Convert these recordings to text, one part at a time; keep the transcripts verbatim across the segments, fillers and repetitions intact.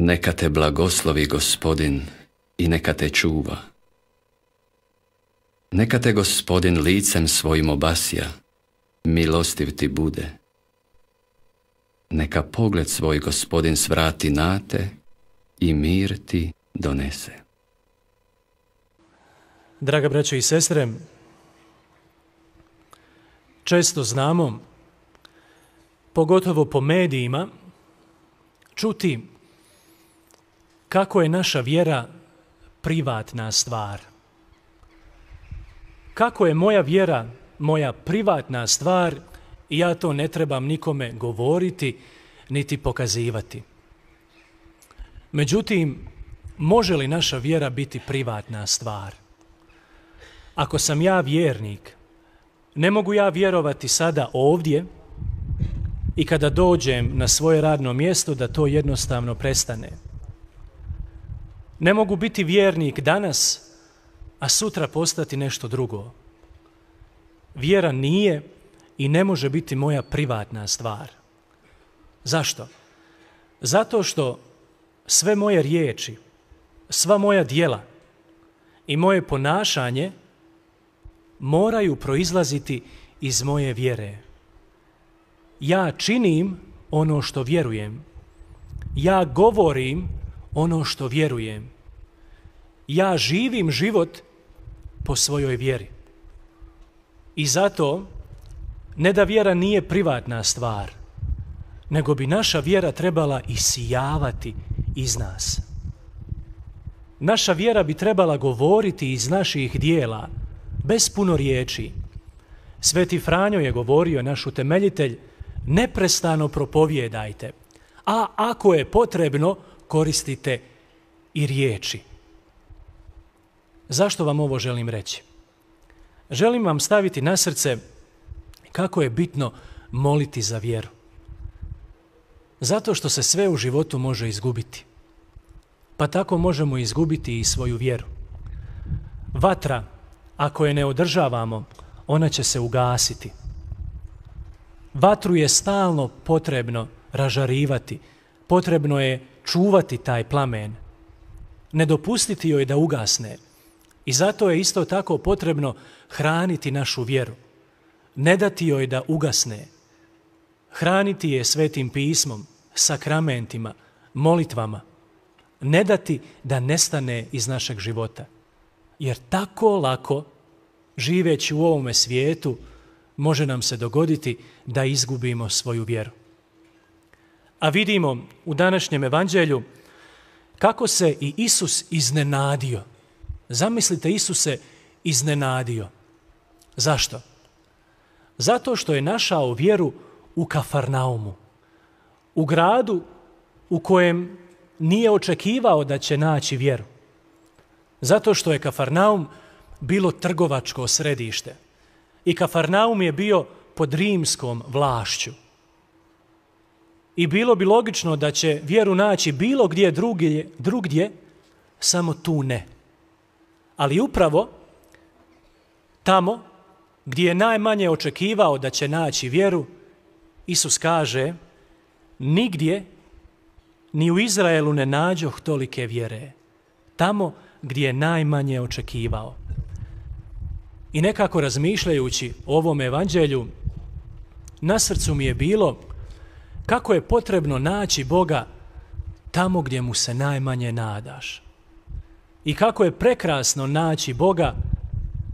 Neka te blagoslovi Gospodin i neka te čuva. Neka te Gospodin licem svojim obasja, milostiv ti bude. Neka pogled svoj Gospodin svrati na te i mir ti donese. Draga braćo i sestre, često znamo, pogotovo po medijima, čuti kako je naša vjera privatna stvar. Kako je moja vjera moja privatna stvar i ja to ne trebam nikome govoriti niti pokazivati. Međutim, može li naša vjera biti privatna stvar? Ako sam ja vjernik, ne mogu ja vjerovati sada ovdje i kada dođem na svoje radno mjesto da to jednostavno prestane. Ne mogu biti vjernik danas, a sutra postati nešto drugo. Vjera nije i ne može biti moja privatna stvar. Zašto? Zato što sve moje riječi, sva moja djela i moje ponašanje moraju proizlaziti iz moje vjere. Ja činim ono što vjerujem. Ja govorim ono što vjerujem. Ja živim život po svojoj vjeri. I zato, ne da vjera nije privatna stvar, nego bi naša vjera trebala isijavati iz nas. Naša vjera bi trebala govoriti iz naših dijela, bez puno riječi. Sveti Franjo je govorio, naš utemeljitelj, neprestano propovijedajte, a ako je potrebno, koristite i riječi. Zašto vam ovo želim reći? Želim vam staviti na srce kako je bitno moliti za vjeru. Zato što se sve u životu može izgubiti. Pa tako možemo izgubiti i svoju vjeru. Vatra, ako je ne održavamo, ona će se ugasiti. Vatru je stalno potrebno ražarivati, potrebno je čuvati taj plamen, ne dopustiti joj da ugasne. I zato je isto tako potrebno hraniti našu vjeru, ne dati joj da ugasne. Hraniti je svetim pismom, sakramentima, molitvama, ne dati da nestane iz našeg života. Jer tako lako, živeći u ovome svijetu, može nam se dogoditi da izgubimo svoju vjeru. A vidimo u današnjem evanđelju kako se i Isus iznenadio. Zamislite, Isus se iznenadio. Zašto? Zato što je našao vjeru u Kafarnaumu, u gradu u kojem nije očekivao da će naći vjeru. Zato što je Kafarnaum bilo trgovačko središte i Kafarnaum je bio pod rimskom vlašću. I bilo bi logično da će vjeru naći bilo gdje drugdje, drugdje, samo tu ne. Ali upravo tamo gdje je najmanje očekivao da će naći vjeru, Isus kaže, nigdje ni u Izraelu ne nađoh tolike vjere. Tamo gdje je najmanje očekivao. I nekako razmišljajući o ovom evanđelju, na srcu mi je bilo kako je potrebno naći Boga tamo gdje mu se najmanje nadaš. I kako je prekrasno naći Boga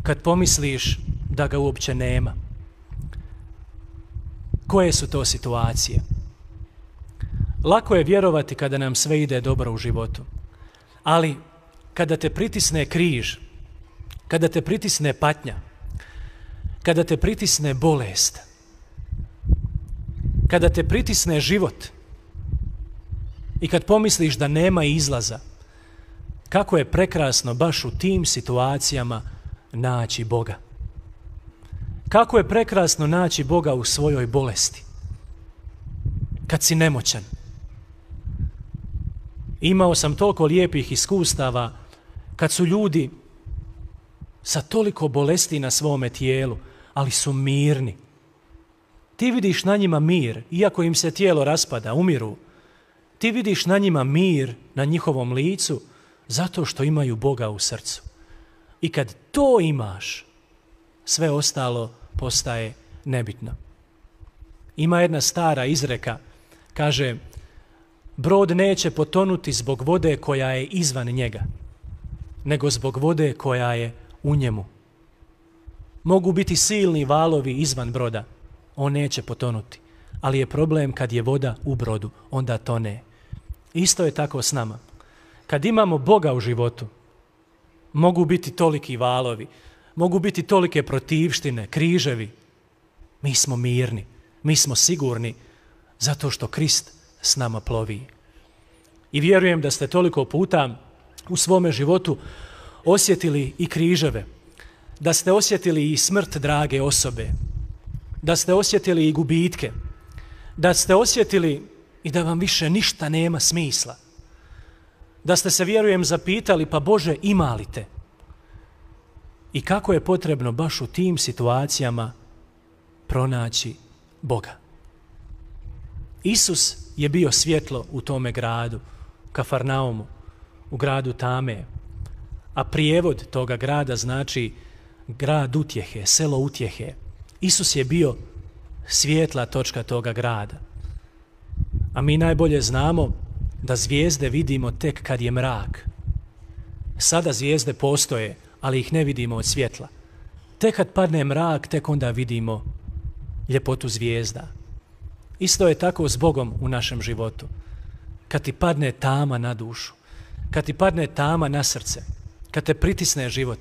kad pomisliš da ga uopće nema. Koje su to situacije? Lako je vjerovati kada nam sve ide dobro u životu. Ali kada te pritisne križ, kada te pritisne patnja, kada te pritisne bolest, kada te pritisne život i kad pomisliš da nema izlaza, kako je prekrasno baš u tim situacijama naći Boga. Kako je prekrasno naći Boga u svojoj bolesti. Kad si nemoćan. Imao sam toliko lijepih iskustava kad su ljudi sa toliko bolesti na svome tijelu, ali su mirni. Ti vidiš na njima mir, iako im se tijelo raspada, umiru. Ti vidiš na njima mir, na njihovom licu, zato što imaju Boga u srcu. I kad to imaš, sve ostalo postaje nebitno. Ima jedna stara izreka, kaže, brod neće potonuti zbog vode koja je izvan njega, nego zbog vode koja je u njemu. Mogu biti silni valovi izvan broda, on neće potonuti, ali je problem kad je voda u brodu, onda tone. Isto je tako s nama. Kad imamo Boga u životu, mogu biti toliki valovi, mogu biti tolike protivštine, križevi. Mi smo mirni, mi smo sigurni, zato što Krist s nama plovi. I vjerujem da ste toliko puta u svome životu osjetili i križeve, da ste osjetili i smrt drage osobe, da ste osjetili i gubitke, da ste osjetili i da vam više ništa nema smisla. Da ste se, vjerujem, zapitali, pa Bože, ima li te? I kako je potrebno baš u tim situacijama pronaći Boga. Isus je bio svjetlo u tome gradu, Kafarnaumu, u gradu Tame, a prijevod toga grada znači grad utjehe, selo utjehe. Isus je bio svjetla točka toga grada. A mi najbolje znamo da zvijezde vidimo tek kad je mrak. Sada zvijezde postoje, ali ih ne vidimo od svjetla. Tek kad padne mrak, tek onda vidimo ljepotu zvijezda. Isto je tako s Bogom u našem životu. Kad ti padne tama na dušu, kad ti padne tama na srce, kad te pritisne život,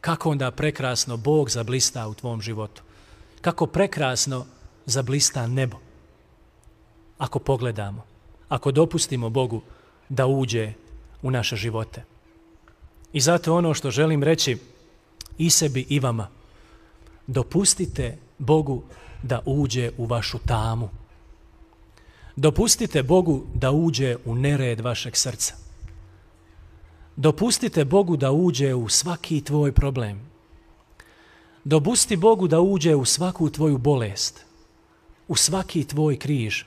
kako onda prekrasno Bog zablista u tvom životu. Kako prekrasno zablista nebo. Ako pogledamo, ako dopustimo Bogu da uđe u naše živote. I zato ono što želim reći i sebi i vama, dopustite Bogu da uđe u vašu tamu. Dopustite Bogu da uđe u nered vašeg srca. Dopustite Bogu da uđe u svaki tvoj problem. Dopusti Bogu da uđe u svaku tvoju bolest, u svaki tvoj križ.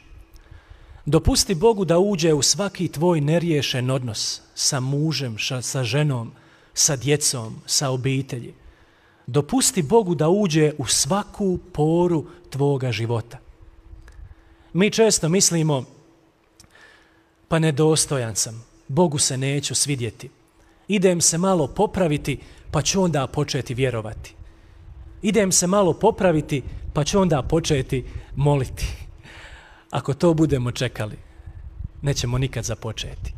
Dopusti Bogu da uđe u svaki tvoj neriješen odnos sa mužem, sa ženom, sa djecom, sa obitelji. Dopusti Bogu da uđe u svaku poru tvoga života. Mi često mislimo, pa nedostojan sam, Bogu se neću svidjeti. Idem se malo popraviti, pa ću onda početi vjerovati. Idem se malo popraviti, pa ću onda početi moliti. Ako to budemo čekali, nećemo nikad započeti.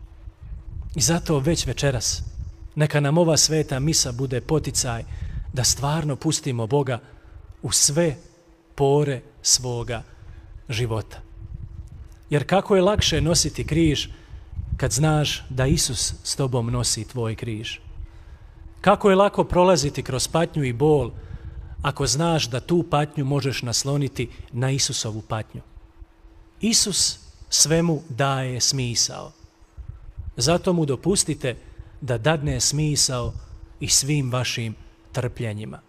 I zato već večeras, neka nam ova sveta misa bude poticaj da stvarno pustimo Boga u sve pore svoga života. Jer kako je lakše nositi križ kad znaš da Isus s tobom nosi tvoj križ. Kako je lako prolaziti kroz patnju i bol ako znaš da tu patnju možeš nasloniti na Isusovu patnju. Isus svemu daje smisao. Zato mu dopustite da dadne smisao i svim vašim trpljenjima.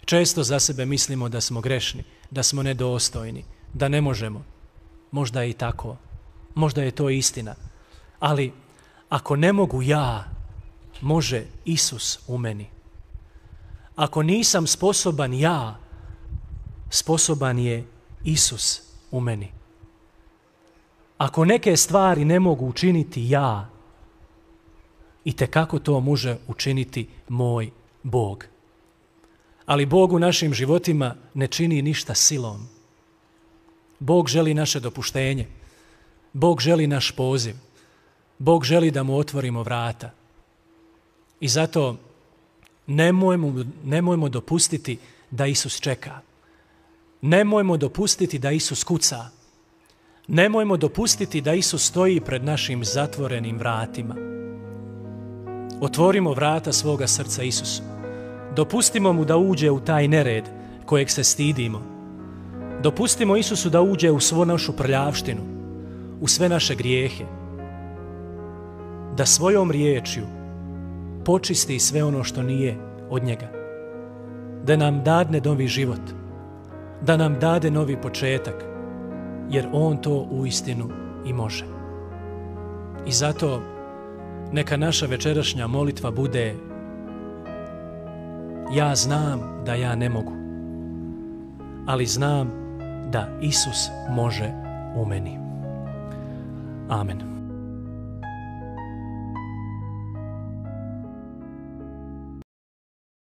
Često za sebe mislimo da smo grešni, da smo nedostojni, da ne možemo. Možda je i tako. Možda je to istina. Ali ako ne mogu ja, može Isus u meni. Ako nisam sposoban ja, sposoban je Isus u meni. Ako neke stvari ne mogu učiniti ja, itekako to može učiniti moj Bog. Ali Bog u našim životima ne čini ništa silom. Bog želi naše dopuštenje. Bog želi naš poziv. Bog želi da mu otvorimo vrata. I zato nemojmo, nemojmo dopustiti da Isus čeka. Nemojmo dopustiti da Isus kuca. Nemojmo dopustiti da Isus stoji pred našim zatvorenim vratima. Otvorimo vrata svoga srca Isusu. Dopustimo mu da uđe u taj nered kojeg se stidimo. Dopustimo Isusu da uđe u svu našu prljavštinu, u sve naše grijehe. Da svojom riječju počisti sve ono što nije od njega. Da nam dadne novi život. Da nam dade novi početak. jer on to uistinu i može. I zato neka naša večerašnja molitva bude: ja znam da ja ne mogu, ali znam da Isus može u meni. Amen.